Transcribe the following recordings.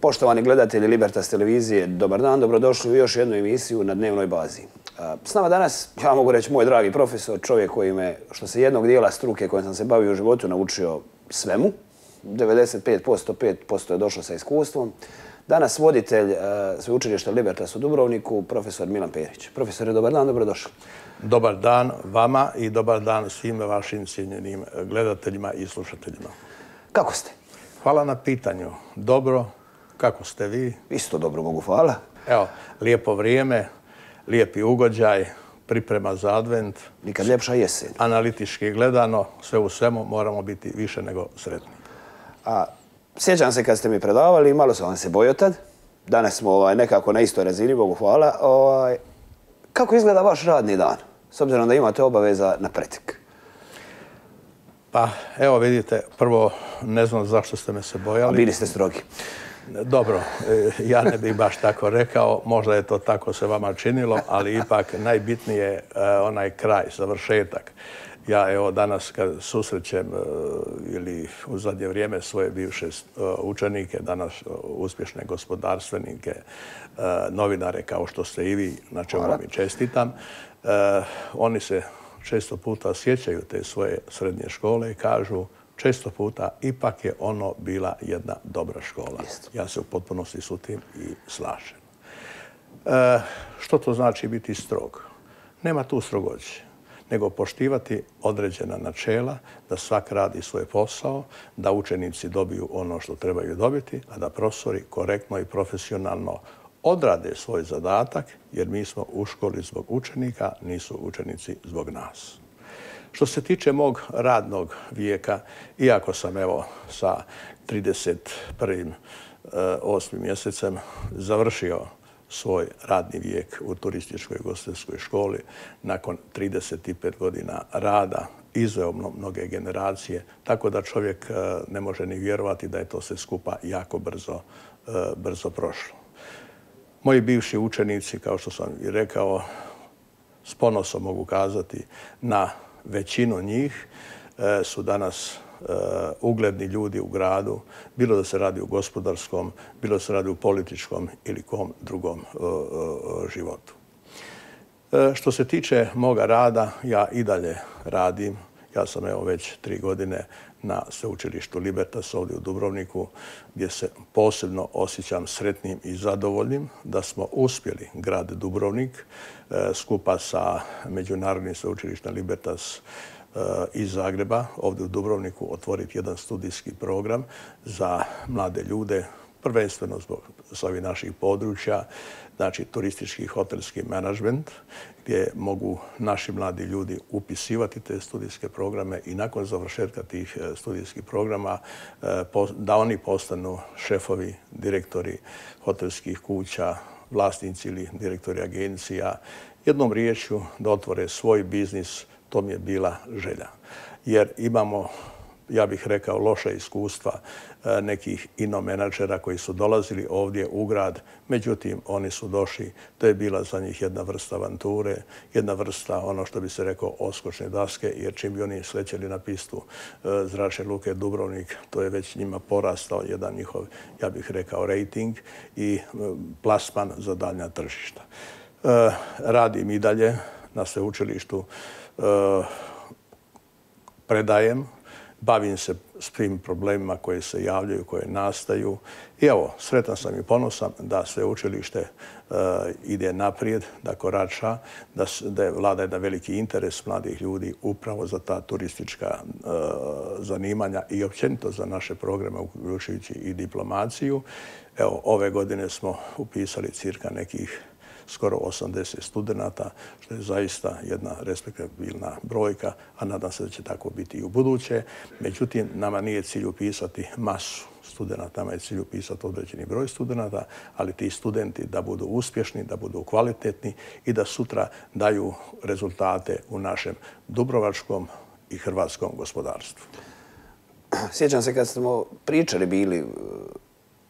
Poštovani gledatelji Libertas televizije, dobar dan, dobrodošli u još jednu emisiju na dnevnoj bazi. S nama danas, ja mogu reći, moj dragi profesor, čovjek koji me, što se jednog dijela struke kojim sam se bavio u životu, naučio svemu. 95%, 5% je došlo sa iskustvom. Danas voditelj sveučilišta Libertas u Dubrovniku, profesor Milan Perić. Profesore, dobar dan, dobrodošli. Dobar dan vama i dobar dan svim vašim cijenjenim gledateljima i slušateljima. Kako ste? Hvala na pitanju. Dobro. Kako ste vi? Isto dobro, Bogu hvala. Evo, lijepo vrijeme, lijepi ugođaj, priprema za advent. Nikad ljepša jesen. Analitički gledano, sve u svemu moramo biti više nego sretni. Sjećam se kad ste mi predavali, malo sam vam se bojao tad. Danas smo nekako na istoj razini, Bogu hvala. Kako izgleda vaš radni dan, s obzirom da imate obaveza na pretek? Pa, evo vidite, prvo ne znam zašto ste me se bojali. Bili ste strogi. Dobro, ja ne bih baš tako rekao, možda je to tako se vama činilo, ali ipak najbitnije je onaj kraj, završetak. Ja evo danas kad susrećem ili u zadnje vrijeme svoje bivše učenike, danas uspješne gospodarstvenike, novinare kao što ste i vi, na čemu vam i čestitam, oni se često puta sjećaju te svoje srednje škole i kažu često puta ipak je ono bila jedna dobra škola. Ja se u potpunosti s tim i slažem. Što to znači biti strog? Nema tu strogoće, nego poštivati određena načela, da svak radi svoj posao, da učenici dobiju ono što trebaju dobiti, a da profesori korektno i profesionalno odrade svoj zadatak, jer mi smo u školi zbog učenika, nisu učenici zbog nas. Što se tiče mog radnog vijeka, iako sam evo sa 31.8. mjesecem završio svoj radni vijek u turističkoj ugostiteljskoj školi nakon 35 godina rada, izveo mnoge generacije, tako da čovjek ne može ni vjerovati da je to sve skupa jako brzo prošlo. Moji bivši učenici, kao što sam i rekao, s ponosom mogu kazati na većinu njih su danas ugledni ljudi u gradu, bilo da se radi u gospodarskom, bilo da se radi u političkom ili kom drugom životu. Što se tiče moga rada, ja i dalje radim. Ja sam evo već 3 godine na sveučilištu Libertas ovdje u Dubrovniku, gdje se posebno osjećam sretnim i zadovoljnim da smo uspjeli grad Dubrovnik skupa sa Međunarodnim sveučilištem Libertas iz Zagreba ovdje u Dubrovniku otvoriti jedan studijski program za mlade ljude, prvenstveno s ovih naših područja, znači turistički i hotelski menadžment, gdje mogu naši mladi ljudi upisivati te studijske programe i nakon završetka tih studijskih programa da oni postanu šefovi, direktori hotelskih kuća, vlasnici ili direktori agencija. Jednom riječju da otvore svoj biznis, to mi je bila želja. Jer imamo, ja bih rekao, loša iskustva nekih ino-menadžera koji su dolazili ovdje u grad. Međutim, oni su došli, to je bila za njih jedna vrsta avanture, jedna vrsta, ono što bi se rekao, odskočne daske, jer čim bi oni slećeli na pistu Zračne luke Dubrovnik, to je već njima porastao jedan njihov, ja bih rekao, rating i plasman za daljnja tržišta. Radim i dalje na sveučilištu, predajem, bavim se s tim problemima koji se javljaju, koje nastaju. I evo, sretan sam i ponosan da sveučilište ide naprijed, da korača, da vlada jedan veliki interes mladih ljudi upravo za ta turistička zanimanja i općenito za naše programe, uključujući i diplomaciju. Evo, ove godine smo upisali cirka nekih skoro 80 studenata, što je zaista jedna respektabilna brojka, a nadam se da će tako biti i u buduće. Međutim, nama nije cilj upisati masu studenata, nama je cilj upisati određeni broj studenata, ali ti studenti da budu uspješni, da budu kvalitetni i da sutra daju rezultate u našem dubrovačkom i hrvatskom gospodarstvu. Sjećam se kad smo pričali bili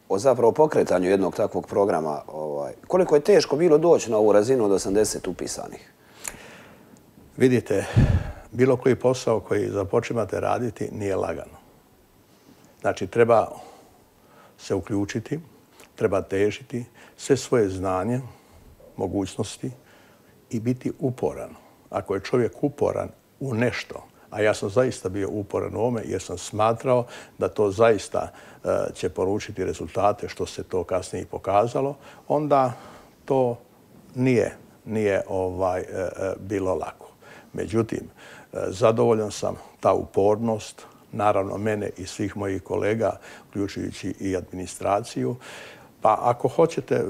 o zapravo pokretanju jednog takvog programa, koliko je teško bilo doći na ovu razinu od 80 upisanih? Vidite, bilo koji posao koji započimate raditi nije lagano. Znači, treba se uključiti, treba težiti sve svoje znanje, mogućnosti i biti uporan. Ako je čovjek uporan u nešto, a ja sam zaista bio uporan u ovome jer sam smatrao da to zaista će poručiti rezultate, što se to kasnije i pokazalo, onda to nije bilo lako. Međutim, zadovoljan sam ta upornost, naravno mene i svih mojih kolega, uključujući i administraciju. Pa ako hoćete,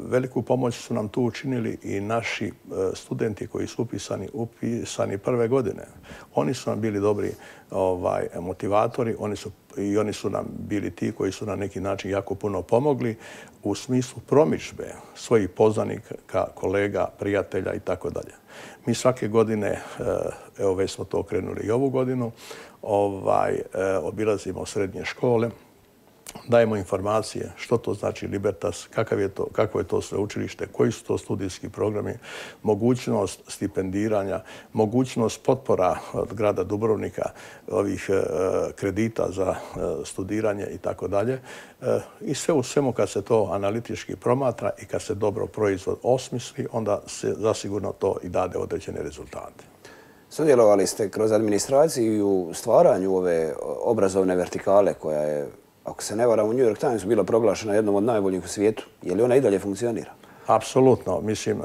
veliku pomoć su nam tu učinili i naši studenti koji su upisani prve godine. Oni su nam bili dobri motivatori, oni su nam bili ti koji su na neki način jako puno pomogli u smislu promidžbe svojih poznanika, kolega, prijatelja i tako dalje. Mi svake godine, evo već smo to krenuli i ovu godinu, obilazimo srednje škole, dajemo informacije što to znači Libertas, kakvo je to sveučilište, koji su to studijski programi, mogućnost stipendiranja, mogućnost potpora od grada Dubrovnika, ovih kredita za studiranje i tako dalje. I sve u svemu kad se to analitički promatra i kad se dobro proizvod osmisli, onda se zasigurno to i dade određene rezultate. Sudjelovali ste kroz administraciju u stvaranju ove obrazovne vertikale koja je, ako se ne varam, u New York Timesu bila proglašena jednom od najboljih u svijetu. Je li ona i dalje funkcionira? Apsolutno. Mislim,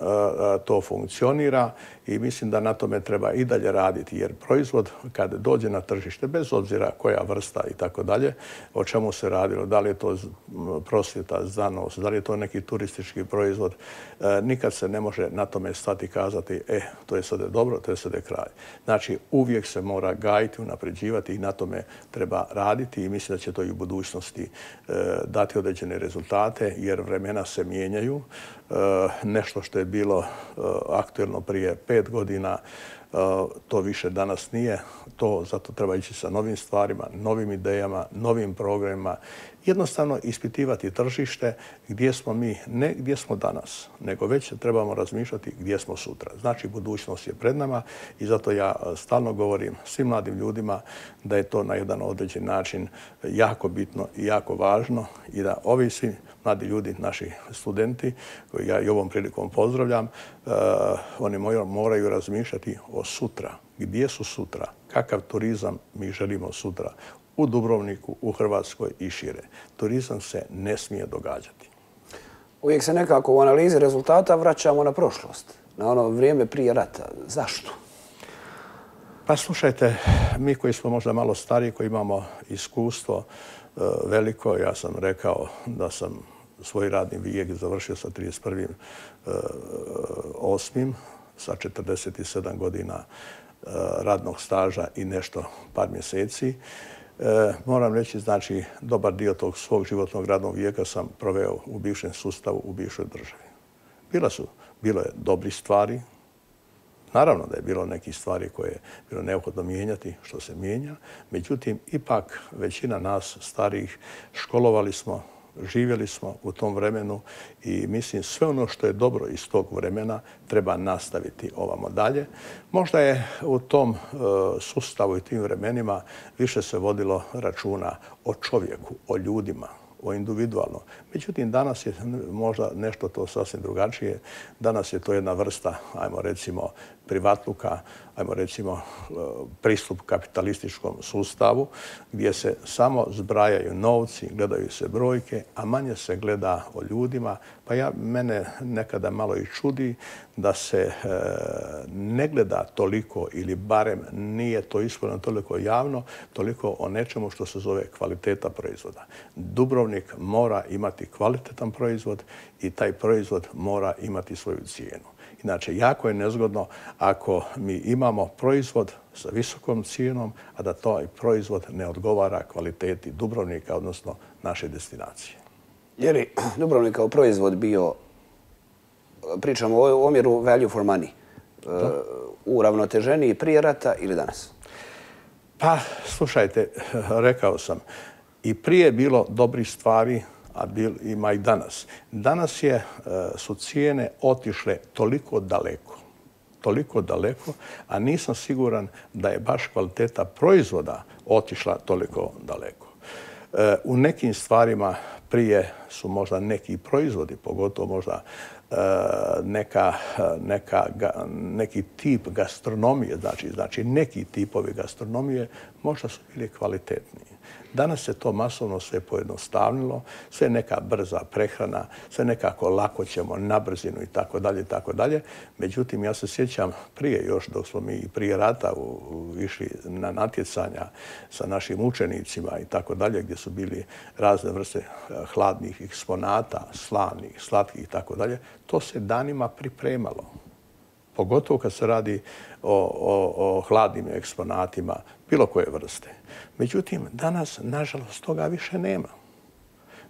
to funkcionira i mislim da na tome treba i dalje raditi, jer proizvod kad dođe na tržište, bez obzira koja vrsta i tako dalje, o čemu se radilo, da li je to prosvjeta, znanost, da li je to neki turistički proizvod, nikad se ne može na tome stati i kazati to je sada dobro, to je sada kraj. Znači, uvijek se mora gajiti, unapređivati i na tome treba raditi i mislim da će to i u budućnosti dati određene rezultate, jer vremena se mijenjaju. Nešto što je bilo aktuelno prije 5 godina, to više danas nije. Zato treba ići sa novim stvarima, novim idejama, novim programima. Jednostavno ispitivati tržište gdje smo mi, ne gdje smo danas, nego već trebamo razmišljati gdje smo sutra. Znači, budućnost je pred nama i zato ja stalno govorim svim mladim ljudima da je to na jedan određen način jako bitno i jako važno i da ovi svi mladi ljudi, naši studenti, koji ja i ovom prilikom pozdravljam, oni moraju razmišljati o sutra. Gdje su sutra? Kakav turizam mi želimo sutra? U Dubrovniku, u Hrvatskoj i šire. Turizam se ne smije događati. Uvijek se nekako u analizi rezultata vraćamo na prošlost, na ono vrijeme prije rata. Zašto? Pa slušajte, mi koji smo možda malo stariji, koji imamo iskustvo veliko, ja sam rekao da sam svoj radni vijek završio sa 31.8. sa 47 godina radnog staža i nešto par mjeseci. Moram reći, znači, dobar dio tog svog životnog radnog vijeka sam proveo u bivšem sustavu, u bivšoj državi. Bilo je dobrih stvari. Naravno da je bilo nekih stvari koje je bilo neophodno mijenjati, što se mijenja. Međutim, ipak većina nas starijih školovali smo, živjeli smo u tom vremenu i mislim sve ono što je dobro iz tog vremena treba nastaviti ovamo dalje. Možda je u tom sustavu i tim vremenima više se vodilo računa o čovjeku, o ljudima, o individualno. Međutim, danas je možda nešto to sasvim drugačije. Danas je to jedna vrsta, ajmo recimo, privatluka, ajmo recimo pristup kapitalističkom sustavu gdje se samo zbrajaju novci, gledaju se brojke, a manje se gleda o ljudima. Pa mene nekada malo i čudi da se ne gleda toliko ili barem nije to ispravljeno toliko javno, toliko o nečemu što se zove kvaliteta proizvoda. Dubrovnik mora imati kvalitetan proizvod i taj proizvod mora imati svoju cijenu. Inače, jako je nezgodno ako mi imamo proizvod sa visokom cijenom, a da taj proizvod ne odgovara kvaliteti Dubrovnika, odnosno naše destinacije. Je li Dubrovnik kao proizvod bio, pričamo o omjeru value for money, uravnoteženiji prije rata ili danas? Pa, slušajte, rekao sam, i prije bilo dobrih stvari, a ima i danas. Danas su cijene otišle toliko daleko, a nisam siguran da je baš kvaliteta proizvoda otišla toliko daleko. U nekim stvarima prije su možda neki proizvodi, pogotovo možda neki tip gastronomije, znači neki tipovi gastronomije možda su bili kvalitetniji. Danas se to masovno sve pojednostavnilo, sve neka brza prehrana, sve nekako lako ćemo na brzinu i tako dalje, i tako dalje. Međutim, ja se sjećam prije još dok smo mi prije rata išli na natjecanja sa našim učenicima i tako dalje, gdje su bili razne vrste hladnih eksponata, slanih, slatkih i tako dalje, to se danima pripremalo. Pogotovo kad se radi o hladnim eksponatima bilo koje vrste. Međutim, danas, nažalost, toga više nema.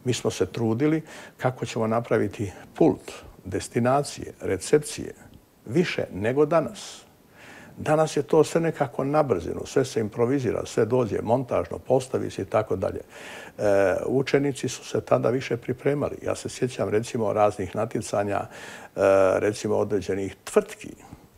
Mi smo se trudili kako ćemo napraviti pult, destinacije, recepcije, više nego danas. Danas je to sve nekako na brzinu, sve se improvizira, sve dođe montažno, postavi se i tako dalje. Učenici su se tada više pripremali. Ja se sjećam recimo raznih natjecanja, recimo određenih tvrtki.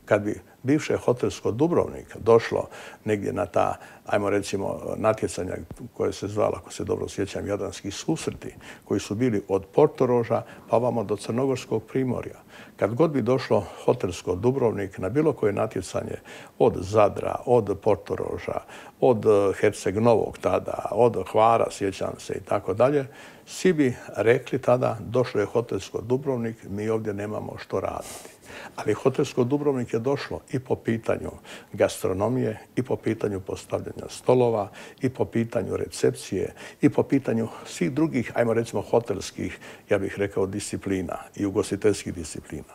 Kad bi bivše hotelsko Dubrovnik došlo negdje na ta, ajmo recimo, natjecanja koje se zvala, ako se dobro sjećam, Jadranski susreti, koji su bili od Portoroža pa ovamo do Crnogorskog primorja. Kad god bi došlo hotelsko Dubrovnik na bilo koje natjecanje od Zadra, od Portoroža, od Herceg Novog tada, od Hvara, sjećam se i tako dalje, svi bi rekli tada došlo je hotelsko Dubrovnik, mi ovdje nemamo što raditi. Ali hotelsko Dubrovnik je došlo i po pitanju gastronomije, i po pitanju postavljanja stolova, i po pitanju recepcije, i po pitanju svih drugih, ajmo recimo, hotelskih, ja bih rekao, disciplina i ugostiteljskih disciplina.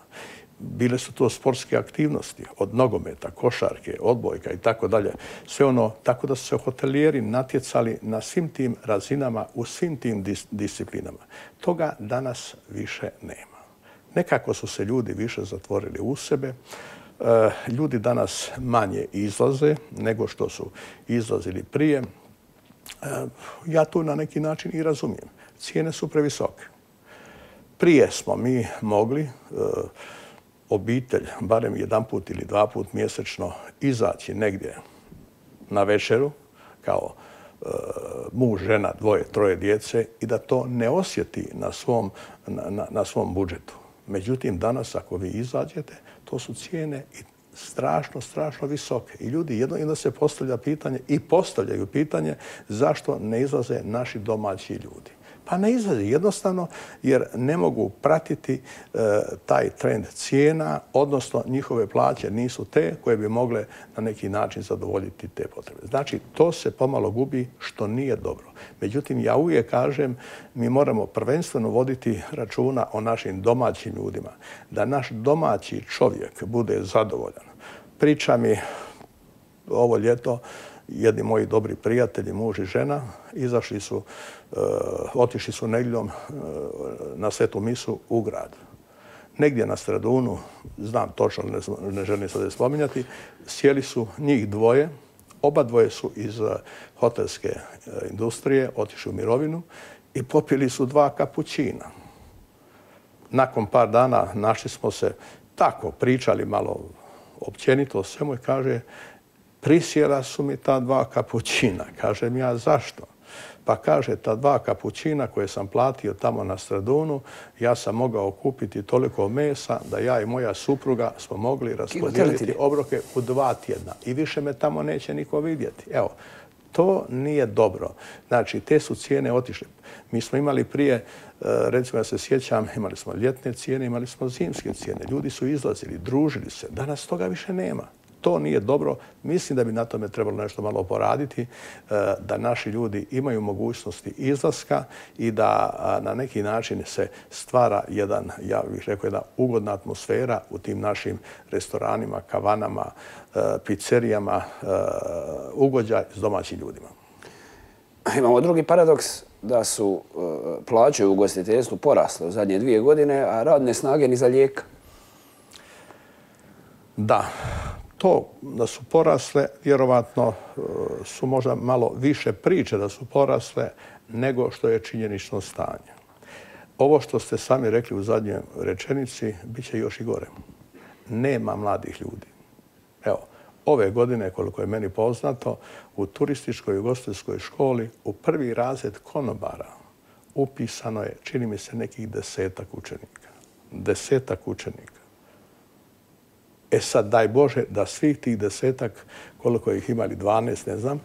Bile su to sportske aktivnosti, od nogometa, košarke, odbojka i tako dalje. Sve ono, tako da su se hotelijeri natjecali na svim tim razinama, u svim tim disciplinama. Toga danas više nema. Nekako su se ljudi više zatvorili u sebe. Ljudi danas manje izlaze nego što su izlazili prije. Ja to na neki način i razumijem. Cijene su previsoke. Prije smo mi mogli obitelj, barem jedanput ili dvaput mjesečno, izaći negdje na večeru kao muž, žena, dvoje, troje djece i da to ne osjeti na svom budžetu. Međutim, danas ako vi izađete, to su cijene strašno, strašno visoke. I ljudi jedno se postavlja pitanje i postavljaju pitanje zašto ne izlaze naši domaći ljudi. Pa ne izlaze jednostavno jer ne mogu pratiti taj trend cijena, odnosno njihove plaće nisu te koje bi mogle na neki način zadovoljiti te potrebe. Znači, to se pomalo gubi, što nije dobro. Međutim, ja uvijek kažem, mi moramo prvenstveno voditi računa o našim domaćim ljudima, da naš domaći čovjek bude zadovoljan. Priča mi ovo ljeto jedni moji dobri prijatelji, muž i žena, otišli su nedjeljom na svetu misu u grad. Negdje na Stradunu, znam točno, ne želim sada spominjati, sjeli su njih dvoje, oba dvoje su iz hotelske industrije, otišli u mirovinu i popili su 2 kapućina. Nakon par dana našli smo se tako, pričali malo općenito o svemu i kaže, prisjela su mi ta 2 kapućina. Kažem ja, zašto? Pa kaže, ta 2 kapućina koje sam platio tamo na Stradunu, ja sam mogao kupiti toliko mesa da ja i moja supruga smo mogli raspodijeliti obroke u 2 tjedna. I više me tamo neće niko vidjeti. Evo, to nije dobro. Znači, te su cijene otišle. Mi smo imali prije, recimo ja se sjećam, imali smo ljetne cijene, imali smo zimske cijene. Ljudi su izlazili, družili se. Danas toga više nema. To nije dobro. Mislim da bi na tome trebalo nešto malo poraditi, da naši ljudi imaju mogućnosti izlaska i da na neki način se stvara ja bih rekao, jedna ugodna atmosfera u tim našim restoranima, kavanama, pizzerijama, ugođaj s domaćim ljudima. Imamo drugi paradoks da su plaće u ugostiteljstvu porasle u zadnje 2 godine, a radne snage ni za lijeka. Da. To da su porasle, vjerovatno su možda malo više priče da su porasle nego što je činjenično stanje. Ovo što ste sami rekli u zadnjoj rečenici, bit će još i gore. Nema mladih ljudi. Evo, ove godine, koliko je meni poznato, u turističkoj i ugostiteljskoj školi u prvi razred konobara upisano je, čini mi se, nekih 10-ak učenika. 10-ak učenika. E sad, daj Bože, da svih tih 10-ak, koliko ih imali, 12, ne znam,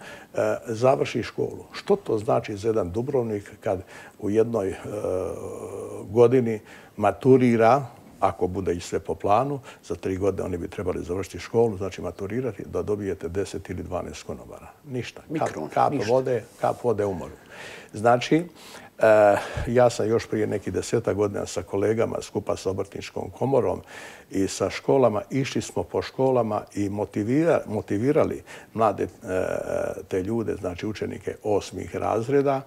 završi školu. Što to znači za jedan Dubrovnik kad u jednoj godini maturira, ako bude i sve po planu, za 3 godine oni bi trebali završiti školu, znači maturirati, da dobijete 10 ili 12 konobara. Ništa. Kap vode u moru. Znači, ja sam još prije nekih 10 godina sa kolegama skupa sa Obrtničkom komorom i sa školama, išli smo po školama i motivirali mlade te ljude, znači učenike 8. razreda,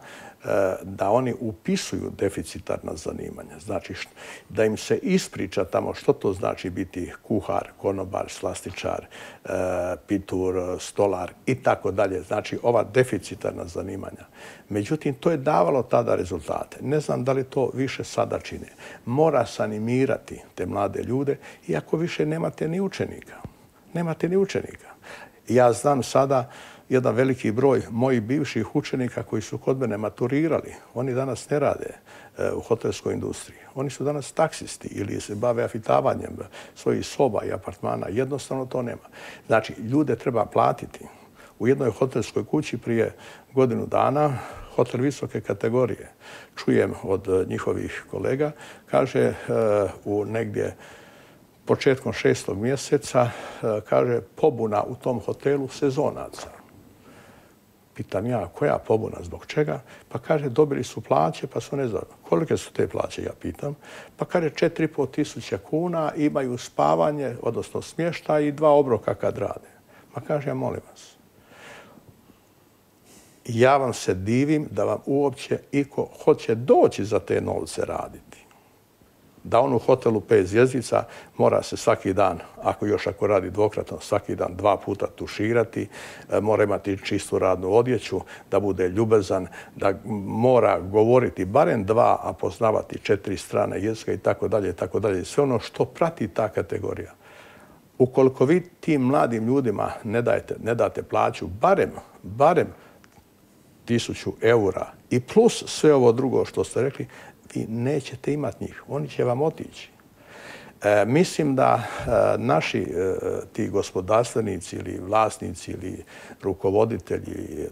da oni upisuju deficitarna zanimanja. Znači da im se ispriča tamo što to znači biti kuhar, konobar, slastičar, pitur, stolar i tako dalje. Znači ova deficitarna zanimanja. Međutim, to je davalo tada rezultate. Ne znam da li to više sada čine. Mora se animirati te mlade ljude, iako više nemate ni učenika. Nemate ni učenika. Ja znam sada jedan veliki broj mojih bivših učenika koji su kod mene maturirali. Oni danas ne rade u hotelskoj industriji. Oni su danas taksisti ili se bave afitavanjem svojih soba i apartmana. Jednostavno to nema. Znači, ljude treba platiti. U jednoj hotelskoj kući prije godinu dana, hotel visoke kategorije, čujem od njihovih kolega, kaže u negdje početkom 6. mjeseca, kaže pobuna u tom hotelu sezonaca. Pitam ja, koja pobuna, zbog čega? Pa kaže, dobili su plaće, pa su ne znam. Kolike su te plaće, ja pitam. Pa kaže, 4.500 kuna, imaju spavanje, odnosno smještaj i 2 obroka kad rade. Ma kaže, ja molim vas. Ja vam se divim da vam uopće iko hoće doći za te novce raditi. Da on u hotelu 5 zvjezdica mora se svaki dan, ako radi dvokratno, svaki dan 2 puta tuširati, mora imati čistu radnu odjeću, da bude ljubazan, da mora govoriti barem 2, a poznavati 4 strane jezika i tako dalje, i tako dalje. Sve ono što prati ta kategorija. Ukoliko vi tim mladim ljudima ne date plaću barem 1000 eura i plus sve ovo drugo što ste rekli, vi nećete imati njih. Oni će vam otići. Mislim da naši ti gospodarstvenici ili vlasnici ili rukovoditelji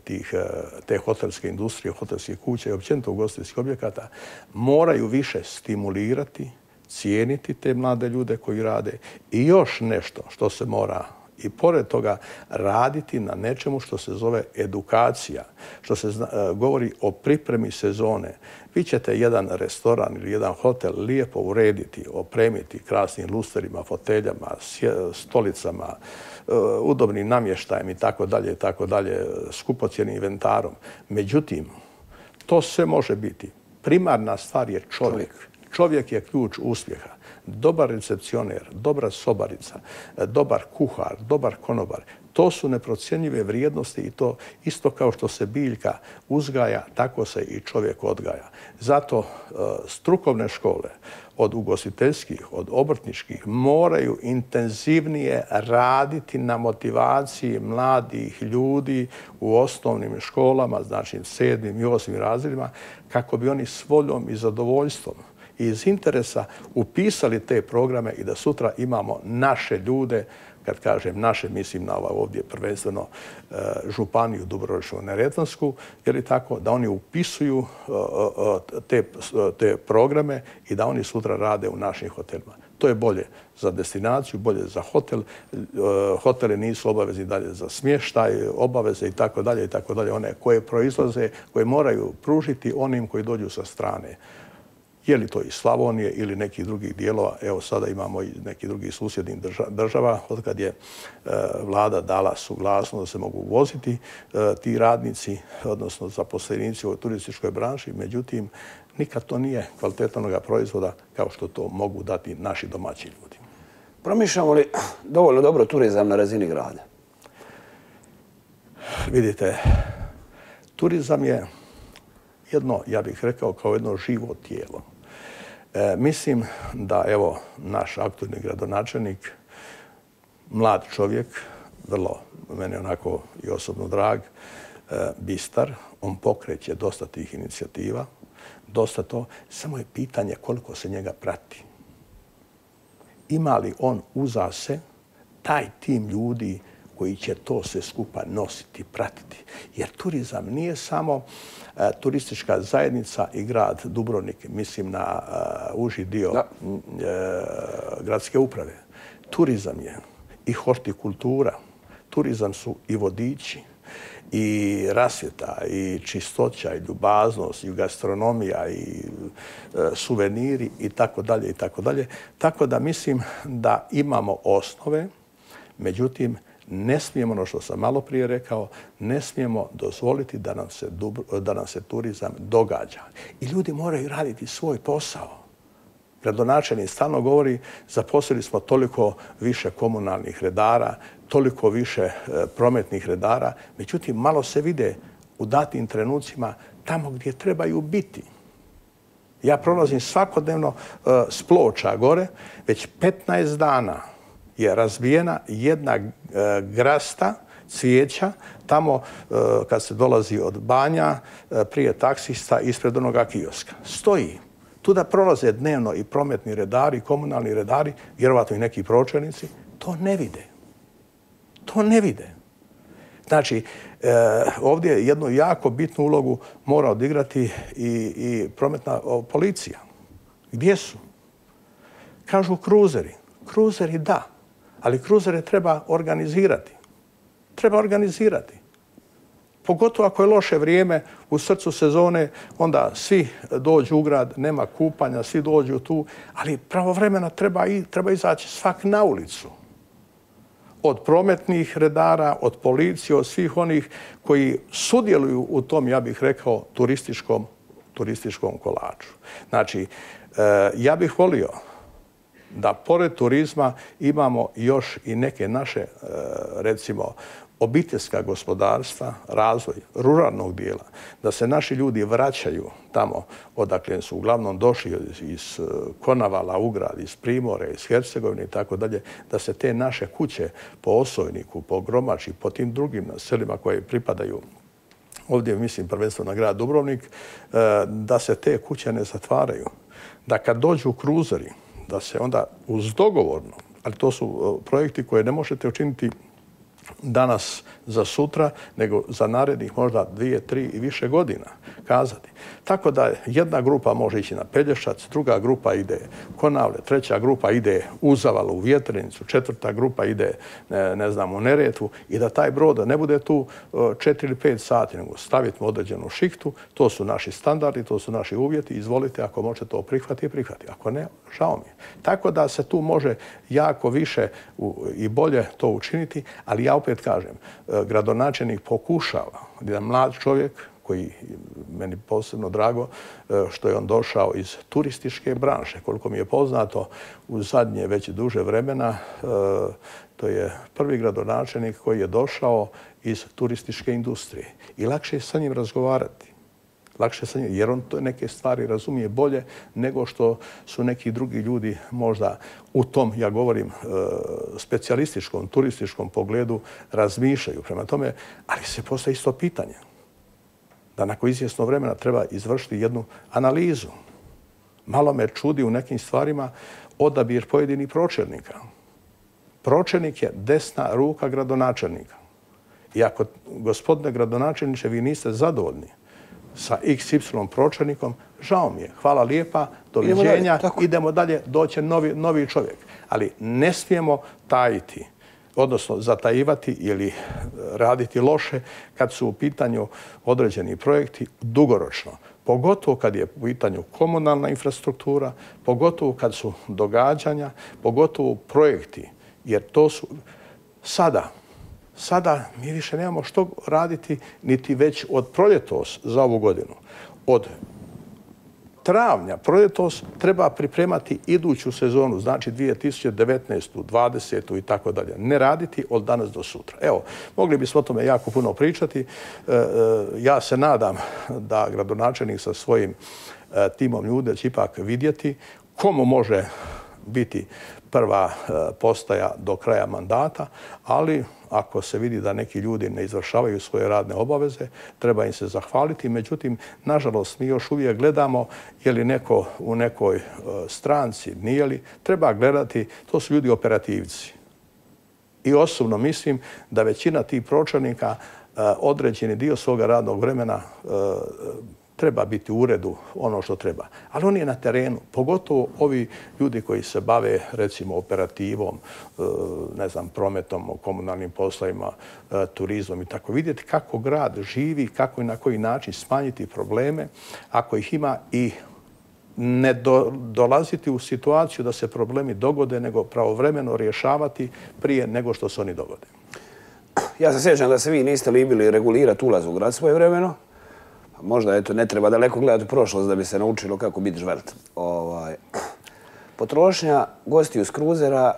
te hotelske industrije, hotelskih kuća i općenito ugostiteljskih objekata moraju više stimulirati, cijeniti te mlade ljude koji rade i još nešto što se mora i pored toga raditi na nečemu što se zove edukacija, što se govori o pripremi sezone. Vi ćete jedan restoran ili jedan hotel lijepo urediti, opremiti krasnim lusterima, foteljama, stolicama, udobnim namještajem i tako dalje, skupocjenim inventarom. Međutim, to sve može biti. Primarna stvar je čovjek. Čovjek je ključ uspjeha. Dobar recepcioner, dobra sobarica, dobar kuhar, dobar konobar. To su neprocjenjive vrijednosti i to isto kao što se biljka uzgaja, tako se i čovjek odgaja. Zato strukovne škole od ugostiteljskih, od obrtničkih moraju intenzivnije raditi na motivaciji mladih ljudi u osnovnim školama, znači 7. i 8. razredima, kako bi oni s voljom i zadovoljstvom i iz interesa upisali te programe i da sutra imamo naše ljude, kad kažem naše, mislim na ovdje prvenstveno županiju Dubrovačko-neretvansku, jer je tako da oni upisuju te programe i da oni sutra rade u našim hotelima. To je bolje za destinaciju, bolje za hotel. Hoteli nisu obavezni dalje za smještaj, obaveze i tako dalje, one koje proizlaze, koje moraju pružiti onim koji dođu sa strane. Je li to iz Slavonije ili nekih drugih dijelova? Evo sada imamo i nekih drugih susjednih država, od kad je vlada dala suglasnost da se mogu voziti ti radnici, odnosno zaposlenici u turističkoj branši. Međutim, nikad to nije kvalitetnog proizvoda kao što to mogu dati naši domaći ljudi. Promišljamo li dovoljno dobro turizam na razini grada? Vidite, turizam je jedno, ja bih rekao, kao jedno živo tijelo. Mislim da, evo, naš aktualni gradonačelnik, mlad čovjek, vrlo, meni onako i osobno drag, bistar. On pokreće dosta tih inicijativa, dosta to. Samo je pitanje koliko se njega prati. Ima li on uza se taj tim ljudi koji će to sve skupa nositi, pratiti? Jer turizam nije samo turistička zajednica i grad Dubrovnik, mislim na uži dio gradske uprave. Turizam je i hortikultura, turizam su i vodiči, i rasvjeta, i čistoća, i ljubaznost, i gastronomija, i suveniri, i tako dalje, i tako dalje. Tako da mislim da imamo osnove, međutim, ne smijemo, ono što sam malo prije rekao, ne smijemo dozvoliti da nam se turizam događa. I ljudi moraju raditi svoj posao. Gradonačelnik stalno govori, zaposlili smo toliko više komunalnih redara, toliko više prometnih redara, međutim, malo se vide u datim trenucima tamo gdje trebaju biti. Ja prolazim svakodnevno s Ploča gore, već 15 dana je razbijena jedna grasta cvijeća tamo kad se dolazi od Banja prije taksista ispred onoga kioska. Stoji. Tuda prolaze dnevno i prometni redari, i komunalni redari, vjerovatno i neki pročelnici. To ne vide. To ne vide. Znači, ovdje jednu jako bitnu ulogu mora odigrati i prometna policija. Gdje su? Kažu kruzeri. Kruzeri da, ali kruzere treba organizirati. Treba organizirati. Pogotovo ako je loše vrijeme u srcu sezone, onda svi dođu u grad, nema kupanja, svi dođu tu, ali pravovremeno treba izaći svak na ulicu. Od prometnih redara, od policije, od svih onih koji sudjeluju u tom, ja bih rekao, turističkom kolaču. Znači, ja bih volio da pored turizma imamo još i neke naše, recimo, obiteljska gospodarstva, razvoj ruralnog dijela, da se naši ljudi vraćaju tamo odakle su uglavnom došli iz Konavala, Ugrad, iz Primorja, iz Hercegovine i tako dalje, da se te naše kuće po Osojniku, po Gromači, po tim drugim selima koje pripadaju ovdje, mislim, prvenstveno na grad Dubrovnik, da se te kuće ne zatvaraju. Da kad dođu kruzeri, da se onda uz dogovorno, ali to su projekti koje ne možete učiniti danas za sutra, nego za narednih možda 2, 3 i više godina kazati. Tako da jedna grupa može ići na Pelješac, druga grupa ide u Konavle, treća grupa ide u Zavalu, u Vjetrenicu, četvrta grupa ide, ne znam, u Neretvu i da taj brod ne bude tu 4 ili 5 sati, nego staviti određenu šihtu, to su naši standardi, to su naši uvjeti, izvolite, ako možete to prihvatiti. Ako ne, žao mi je. Tako da se tu može jako više i bolje to učiniti, ali ja opet kažem, gradonačelnik pokušava, jedan mlad čovjek koji meni posebno drago što je on došao iz turističke branše. Koliko mi je poznato, u zadnje već duže vremena, to je prvi gradonačelnik koji je došao iz turističke industrije. I lakše je sa njim razgovarati. Lakše sa njim, jer on neke stvari razumije bolje nego što su neki drugi ljudi možda u tom, ja govorim, specijalističkom, turističkom pogledu razmišljaju. Prema tome, ali se postaje isto pitanje da nakon izvjesno vremena treba izvršiti jednu analizu. Malo me čudi u nekim stvarima odabir pojedinih pročelnika. Pročelnik je desna ruka gradonačelnika. I ako, gospodine gradonačelniče, vi niste zadovoljni sa XY pročelnikom, žao mi je, hvala lijepa, doviđenja, idemo dalje, doće novi čovjek. Ali ne smijemo tajiti, odnosno zatajivati ili raditi loše kad su u pitanju određeni projekti dugoročno. Pogotovo kad je u pitanju komunalna infrastruktura, pogotovo kad su događanja, pogotovo projekti. Jer to su sada mi više nemamo što raditi niti već od proljetos za ovu godinu. Od travnja, proljetos, treba pripremati iduću sezonu, znači 2019. 20. i tako dalje. Ne raditi od danas do sutra. Evo, mogli bismo o tome jako puno pričati. Ja se nadam da gradonačelnik sa svojim timom ljudi će ipak vidjeti komu može biti prva postaja do kraja mandata, ali ako se vidi da neki ljudi ne izvršavaju svoje radne obaveze, treba im se zahvaliti. Međutim, nažalost, mi još uvijek gledamo je li neko u nekoj stranci, nije li. Treba gledati, to su ljudi operativci. I osobno mislim da većina tih pročelnika određeni dio svoga radnog vremena treba biti u uredu ono što treba. Ali on je na terenu, pogotovo ovi ljudi koji se bave recimo operativom, ne znam, prometom, komunalnim poslovima, turizmom i tako. Vidjeti kako grad živi, kako i na koji način smanjiti probleme ako ih ima i ne dolaziti u situaciju da se problemi dogode, nego pravovremeno rješavati prije nego što se oni dogode. Ja se sjećam da se vi niste libili regulirati ulaz u grad svojevremeno. Možda eto, ne treba daleko gledati u prošlost da bi se naučilo kako biti žvelt. Potrošnja gostiju s kruzera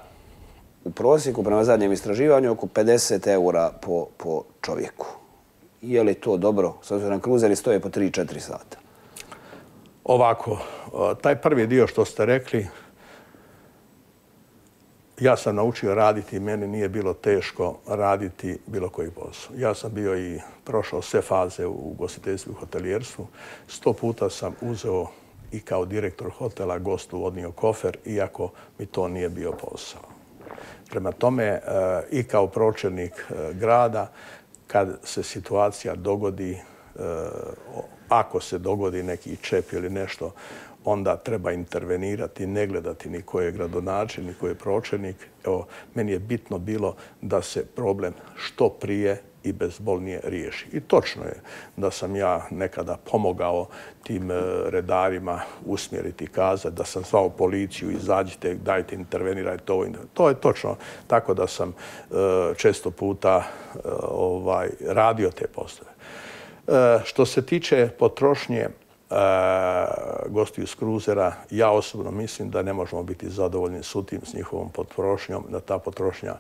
u prosjeku prema zadnjem istraživanju oko 50 eura po čovjeku. Je li to dobro? S obzirom na kruzeri stoje po 3-4 sata. Ovako, taj prvi dio što ste rekli, ja sam naučio raditi i meni nije bilo teško raditi bilo koji posao. Ja sam bio i prošao sve faze u ugostiteljstvu i hotelijerstvu. 100 puta sam uzeo i kao direktor hotela gostu odnio kofer, iako mi to nije bio posao. Prema tome, i kao pročelnik grada, kad se situacija dogodi, ako se dogodi neki čep ili nešto, onda treba intervenirati, ne gledati ni ko je gradonačelnik, ni ko je pročelnik. Evo, meni je bitno bilo da se problem što prije i bezbolnije riješi. I točno je da sam ja nekada pomogao tim redarima usmjeriti, kazati da sam zvao policiju, izađite, dajte, intervenirajte ovo. To je točno. Tako da sam često puta radio te poslove. Što se tiče potrošnje gostiju s kruzera, ja osobno mislim da ne možemo biti zadovoljni s njihovom potrošnjom, da ta potrošnja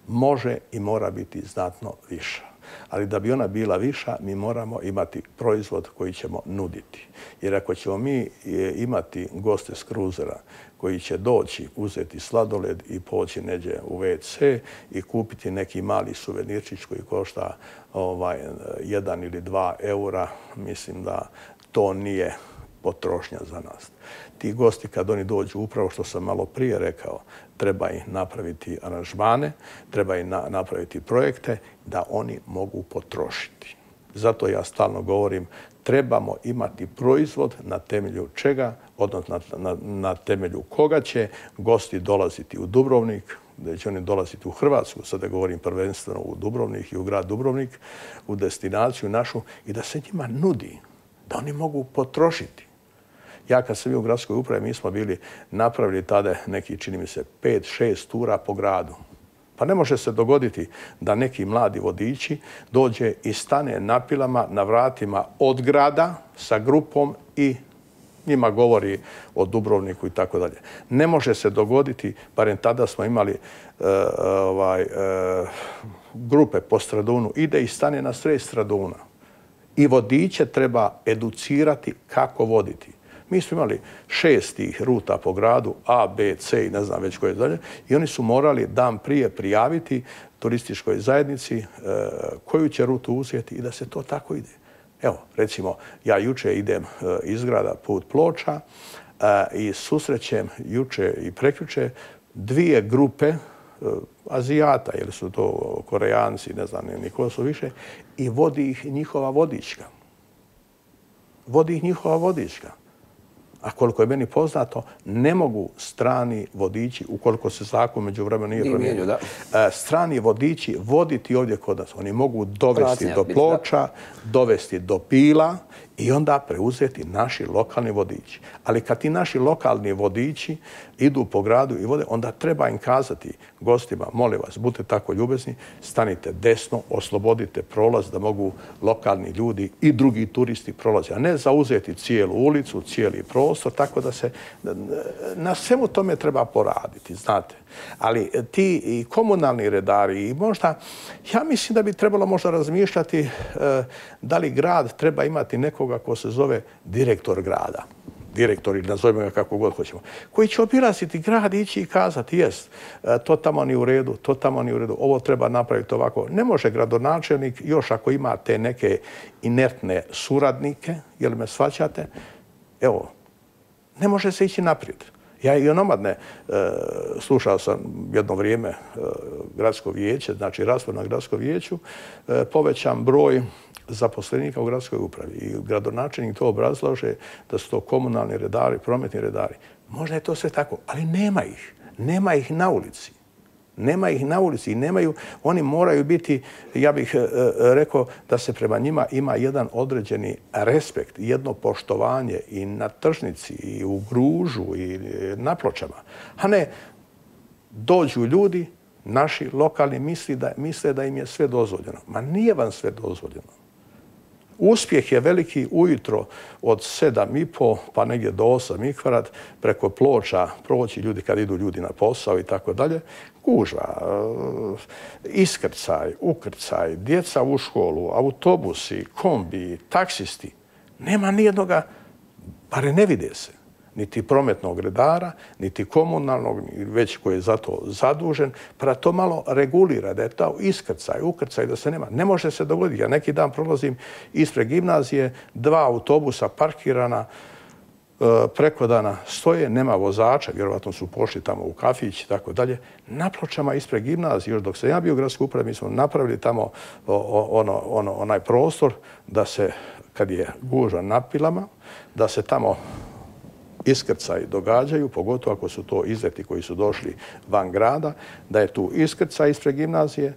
može i mora biti znatno viša. Ali da bi ona bila viša, mi moramo imati proizvod koji ćemo nuditi. Jer ako ćemo mi imati goste s kruzera koji će doći, uzeti sladoled i poći neđe u WC i kupiti neki mali suvenirčić koji košta 1 ili 2 eura, mislim da to nije potrošnja za nas. Ti gosti kad oni dođu, upravo što sam malo prije rekao, treba im napraviti aranžmane, treba im napraviti projekte da oni mogu potrošiti. Zato ja stalno govorim, trebamo imati proizvod na temelju čega, odnosno na temelju koga će gosti dolaziti u Dubrovnik, da će oni dolaziti u Hrvatsku, sada govorim prvenstveno u Dubrovnik i u grad Dubrovnik, u destinaciju našu i da se njima nudi, da oni mogu potrošiti. Ja kad sam bio u gradskoj upravi, mi smo bili napravili tada neki, čini mi se, 5-6 tura po gradu. Pa ne može se dogoditi da neki mladi vodiči dođe i stane na pilama na vratima od grada sa grupom i njima govori o Dubrovniku i tako dalje. Ne može se dogoditi, barem tada smo imali grupe po Stradunu, ide i stane na sred Straduna. I vodiče treba educirati kako voditi. Mi smo imali 6 tih ruta po gradu, A, B, C i ne znam već koje dalje. I oni su morali dan prije prijaviti turističkoj zajednici koju će rutu uzeti i da se to tako ide. Evo, recimo, ja juče idem iz grada put Ploča i susrećem juče i prekjuče 2 grupe Azijata, jer su to Korejanci, ne znam ni ko su više, i vodi ih njihova vodička. Vodi ih njihova vodička. A koliko je meni poznato, ne mogu strani vodiči, ukoliko se zakon međuvremeno nije promijenio, strani vodiči voditi ovdje kod nas. Oni mogu dovesti do Ploča, dovesti do Pila i onda preuzeti naši lokalni vodiči. Ali kad ti naši lokalni vodiči idu po gradu i vode, onda treba im kazati gostima, molim vas, budite tako ljubezni, stanite desno, oslobodite prolaz da mogu lokalni ljudi i drugi turisti prolaziti, a ne zauzeti cijelu ulicu, cijeli prostor, tako da se na svemu tome treba poraditi, znate. Ali ti i komunalni redari i možda, ja mislim da bi trebalo možda razmišljati da li grad treba imati nekoga ko se zove direktor grada. direktori, nazovimo ga kako god hoćemo, koji će obilaziti grad, ići i kazati, jest, to tamo nije u redu, to tamo nije u redu, ovo treba napraviti ovako. Ne može gradonačelnik, još ako ima te neke inertne suradnike, jel me shvaćate, evo, ne može se ići naprijed. Ja i onomadne slušao sam jedno vrijeme gradsko vijeće, znači raspravu na gradskom vijeću, povećan broj zaposlenika u gradskoj upravi. I gradonačelnik to obrazlaže da su to komunalni redari, prometni redari. Možda je to sve tako, ali nema ih. Nema ih na ulici. Nema ih na ulici i nemaju, oni moraju biti, ja bih rekao da se prema njima ima jedan određeni respekt, jedno poštovanje i na tržnici, i u Gružu, i na Pločama. A ne, dođu ljudi, naši lokalni misle da im je sve dozvoljeno. Ma nije vam sve dozvoljeno. Uspjeh je veliki ujutro od 7,5 pa negdje do 8 preko Ploča proći ljudi kad idu ljudi na posao i tako dalje. Gužva, iskrcaj, ukrcaj, djeca u školu, autobusi, kombi, taksisti. Nema nijednoga, bare ne vide se. Niti prometnog redara, niti komunalnog, već koji je za to zadužen, pa da to malo regulira, da je to iskrcaj, ukrcaj, da se nema. Ne može se dogoditi. Ja neki dan prolazim ispred gimnazije, 2 autobusa parkirana, preko dana stoje, nema vozača, vjerovatno su pošli tamo u kafić i tako dalje. Na Pločama ispred gimnazije, još dok sam ja bio u gradskoj upravi, mi smo napravili tamo onaj prostor da se, kad je gužva na pilama, da se tamo iskrcaj događaju, pogotovo ako su to izleti koji su došli van grada, da je tu iskrcaj ispred gimnazije,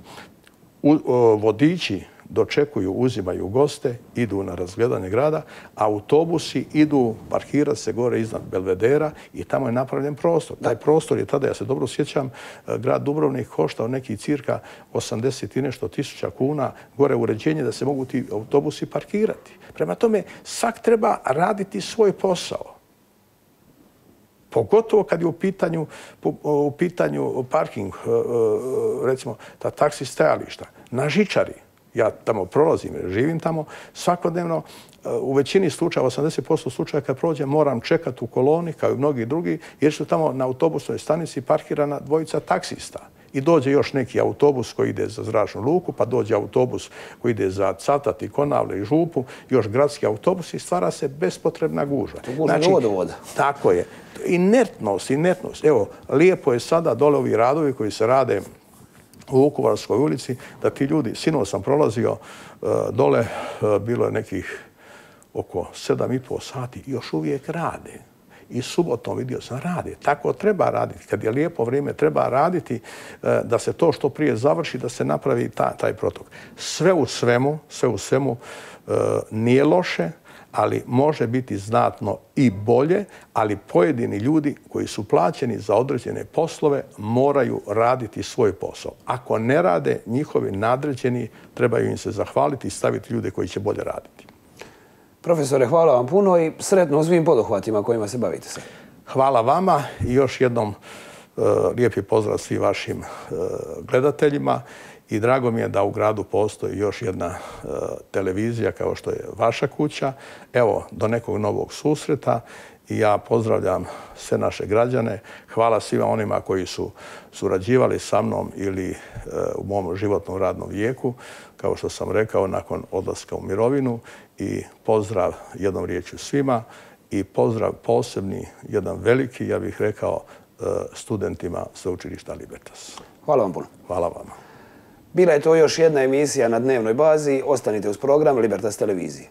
vodiči dočekuju, uzimaju goste, idu na razgledanje grada, autobusi idu parkirati se gore iznad Belvedera i tamo je napravljen prostor. Taj prostor je tada, ja se dobro sjećam, grad Dubrovnik koštao neki cirka 80 i nešto tisuća kuna gore uređenje da se mogu ti autobusi parkirati. Prema tome, svak treba raditi svoj posao. Pogotovo kad je u pitanju parking, recimo ta taksi stajališta, na žičari. Ja tamo prolazim, živim tamo, svakodnevno u većini slučaja, 80% slučaja kad prođem, moram čekati u koloni kao i mnogi drugi, jer su tamo na autobusnoj stanici parkirana 2 taksista. I dođe još neki autobus koji ide za Zračnu luku, pa dođe autobus koji ide za Cavtat i Konavle i Župu, još gradski autobus i stvara se bespotrebna gužva. Znači, vodovoda. Tako je. Inertnost. Evo, lijepo je sada dole ovi radovi koji se rade u Vukovarskoj ulici, da ti ljudi, sinoć sam prolazio dole, bilo je nekih oko 7,5 sati, još uvijek rade. I subotom vidio sam rade. Tako treba raditi. Kad je lijepo vrijeme, treba raditi da se to što prije završi, da se napravi taj protok. Sve u svemu nije loše, ali može biti znatno i bolje, ali pojedini ljudi koji su plaćeni za određene poslove moraju raditi svoj posao. Ako ne rade, njihovi nadređeni trebaju im se zahvaliti i staviti ljude koji će bolje raditi. Profesore, hvala vam puno i sretno u svim poduhvatima kojima se bavite se. Hvala vama i još jednom lijepi pozdrav svim vašim gledateljima i drago mi je da u gradu postoji još jedna televizija kao što je vaša kuća. Evo, do nekog novog susreta i ja pozdravljam sve naše građane. Hvala svima onima koji su surađivali sa mnom ili u mom životnom radnom vijeku, kao što sam rekao, nakon odlaska u mirovinu. I pozdrav jednom riječju svima i pozdrav posebni, jedan veliki, ja bih rekao, studentima Sveučilišta Libertas. Hvala vam puno. Hvala vama. Bila je to još jedna emisija na dnevnoj bazi. Ostanite uz program Libertas televizije.